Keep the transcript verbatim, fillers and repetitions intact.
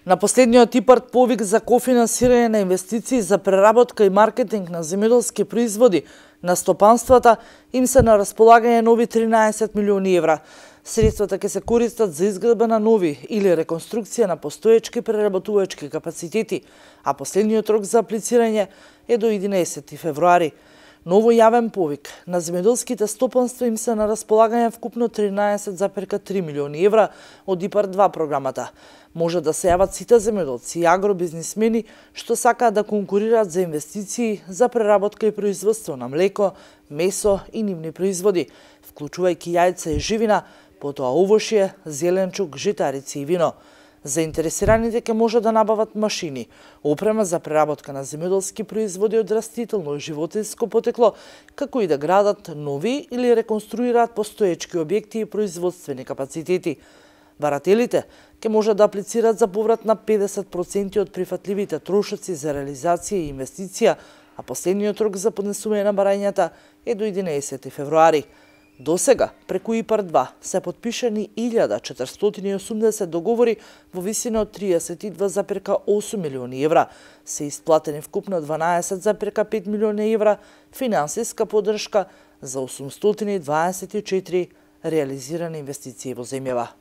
На последниот ИПАРД повик за кофинансирање на инвестиции за преработка и маркетинг на земјоделски производи на стопанствата им се на располагање нови тринаесет милиони евра. Средствата ќе се користат за изградба на нови или реконструкција на постоечки преработувачки капацитети, а последниот рок за аплицирање е до единаесети февруари. Ново јавен повик на земјоделските стопанства им се на располагање вкупно тринаесет зарез три милиони евра од ИПАРД два програмата. Може да се јават сите земјоделци и агробизнисмени што сакаат да конкурираат за инвестиции за преработка и производство на млеко, месо и нивни производи, вклучувајќи јајца и живина, потоа овошје, зеленчук, житарици и вино. Заинтересираните ќе може да набават машини, опрема за преработка на земјоделски производи од растително и животинско потекло, како и да градат нови или реконструираат постоечки објекти и производствени капацитети. Барателите ќе може да аплицираат за поврат на педесет проценти од прифатливите трошоци за реализација и инвестиција, а последниот рок за поднесување на барањата е до единаесети февруари. До сега, преку ИПАРД два, се потпишани илјада четиристотини и осумдесет договори во висина од триесет и два зарез осум милиони евра. Се исплатени вкупно дванаесет зарез пет милиони евра финансиска поддршка за осумстотини и дваесет и четири реализирани инвестиции во земјава.